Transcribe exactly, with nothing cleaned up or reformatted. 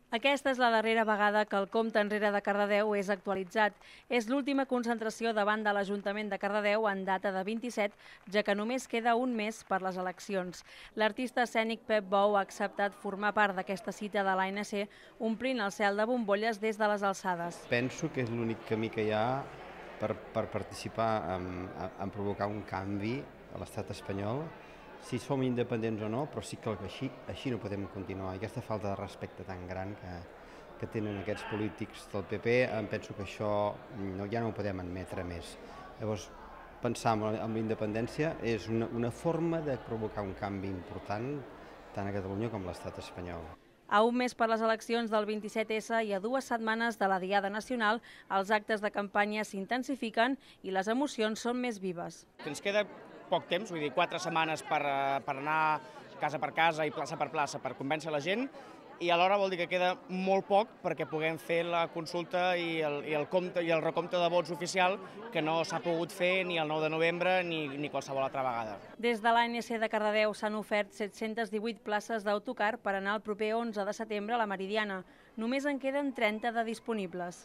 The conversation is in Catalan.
Aquesta és la darrera vegada que el compte enrere de Cardedeu és actualitzat. És l'última concentració davant de l'Ajuntament de Cardedeu en data de vint-i-set, ja que només queda un mes per les eleccions. L'artista escènic Pep Bou ha acceptat formar part d'aquesta cita de l'A N C, omplint el cel de bombolles des de les alçades. Penso que és l'únic camí que hi ha per, per participar en, en provocar un canvi a l'estat espanyol, si som independents o no, però sí que així, així no podem continuar. I aquesta falta de respecte tan gran que, que tenen aquests polítics del P P, em penso que això no, ja no ho podem admetre més. Llavors, pensar en la independència és una, una forma de provocar un canvi important tant a Catalunya com a l'estat espanyol. A un mes per les eleccions del vint-i-set essa i a dues setmanes de la Diada Nacional, els actes de campanya s'intensifiquen i les emocions són més vives. Ens queda poc temps, vull dir, quatre setmanes per, per anar casa per casa i plaça per plaça per convèncer la gent, i alhora vol dir que queda molt poc perquè puguem fer la consulta i el, i el, compte, i el recompte de vots oficial, que no s'ha pogut fer ni el nou de novembre ni, ni qualsevol altra vegada. Des de l'A N C de Cardedeu s'han ofert set-centes divuit places d'autocar per anar el proper onze de setembre a la Meridiana. Només en queden trenta de disponibles.